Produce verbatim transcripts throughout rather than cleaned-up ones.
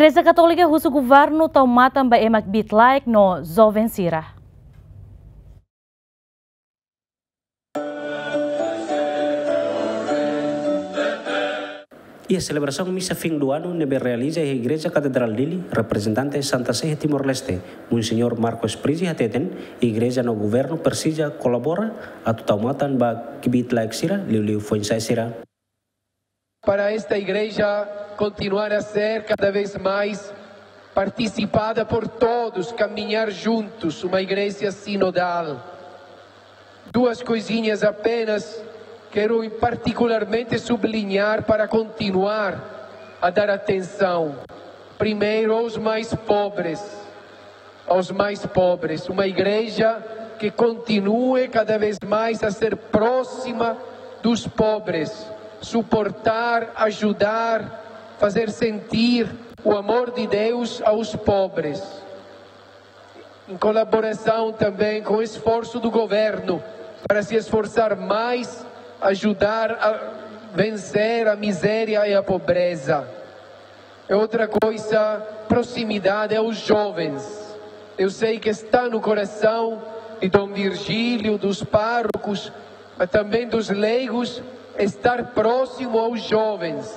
Igreja Katólika husu governu tau matan ba ema kbiit-laek no joven sira. Iha selebrasaun misa fim do ano ne'ebé realiza iha Igreja Katedrál Dili, reprezentante Santa Sé iha Timor-Leste, Monseñór Marcos Prizi hateten, igreja no governu presiza kolabora atu tau matan ba kbiit-laek sira, liuliu foin-sa'e sira. Para esta igreja continuar a ser cada vez mais participada por todos, caminhar juntos, uma igreja sinodal. Duas coisinhas apenas quero particularmente sublinhar para continuar a dar atenção. Primeiro, aos mais pobres. Aos mais pobres. Uma igreja que continue cada vez mais a ser próxima dos pobres, suportar, ajudar, fazer sentir o amor de Deus aos pobres. Em colaboração também com o esforço do governo para se esforçar mais, ajudar a vencer a miséria e a pobreza. É outra coisa, proximidade aos jovens. Eu sei que está no coração de Dom Virgílio, dos párocos, mas também dos leigos, estar próximo aos jovens,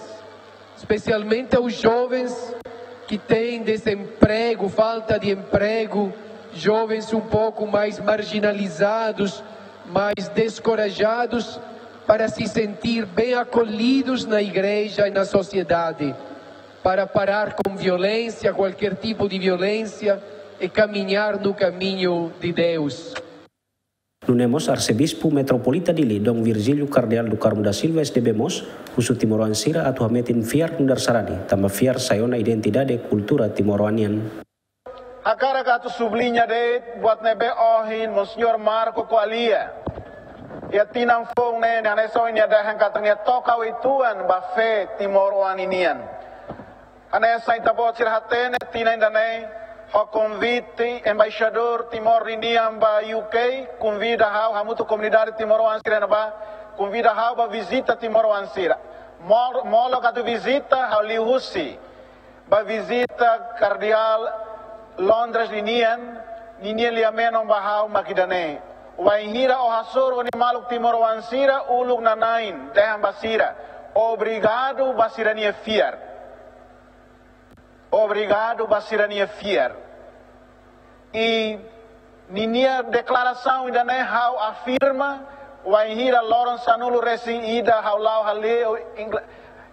especialmente aos jovens que têm desemprego, falta de emprego, jovens um pouco mais marginalizados, mais descorajados, para se sentir bem acolhidos na igreja e na sociedade, para parar com violência, qualquer tipo de violência, e caminhar no caminho de Deus. Nune'e mós Arsebispu Metropolita Dili, Dom Virgílio Kardeál do Carmo da Silva, S D B mós, husu timoroan sira atu hametin fiar nu'udar sarani, tanba fiar sai ona identidade kultura timoroan nian. Hakarak atu subliña de'it buat ne'ebé ohin Monseñór Marco ko'alia iha tinan foun ne'e, hanesan ohin nia dehan katak nia toka uitoan ba fé timoroan ninian. Hanesan ita-boot sira hatene, tinan ida-ne'e ho konvite embaixadór Timor ninian ba U K, konvida ha'u hamutuk komunidade timoroan sira ne'ebá, konvida ha'u ba vizita timoroan sira. Mol-, molok atu vizita, ha'u liuhusi ba vizita Kardeál Londres ninian, ninia lia-menon ba ha'u mak ida-ne'e: Wainhira ó hasoru ó-nia maluk timoroan sira uluk nanain, dehan ba sira: Obrigadu ba sira-nia fiar. Obrigadu ba sira-nia fiar. I ninia deklarasaun ida-ne'e ha'u afirma, wainhira loron sanulu-resin-ida ha'u la'o hale'u Ingl-,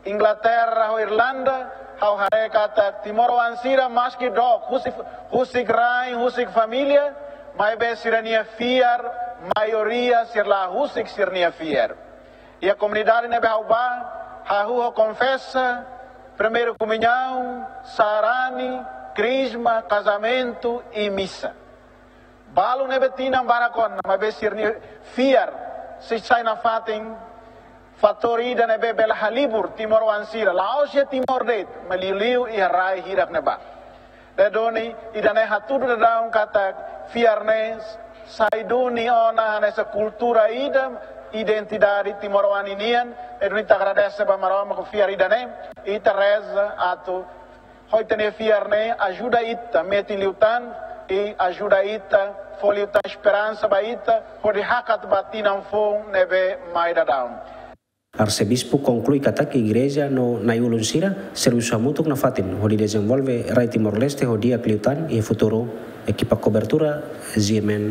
Inglaterra ho Irlanda, ha'u haree katak timoroan sira maski dook, husik, husik rain, husik família, maibé sira-nia fiar, maioria sira la husik sira-nia fiar. Iha komunidade ne'ebé ha'u bá, hahú ho konfesa, primeira komuñaun, sarani, krizma, kazamentu i misa. Balu ne'ebé tinan barak ona, maibé sira-nia fiar sei sai nafatin fatór ida ne'ebé bele halibur timoroan sira, la'ós iha Timor de'it, maibé liuliu iha rai hirak ne'ebá. Ne'e duni, ida-ne'e hatudu daudaun katak fiar ne'e sai duni ona hanesan kultura ida, identidade timoroan ninian, ne'e duni ita agradese ba Maromak ho fiar ida-ne'e, ita reza atu ho ita-nia fiar ne'e ajuda ita metin liután, i ajuda ita fó liután esperansa ba ita, hodi hakat ba tinan foun ne'ebé mai daudaun. Arsebispu konklui katak igreja no na'i-ulun sira servisu hamutuk nafatin hodi dezenvolve rai Timor-Leste ho di'ak liután iha futuru. Ekipa kobertura, G M N.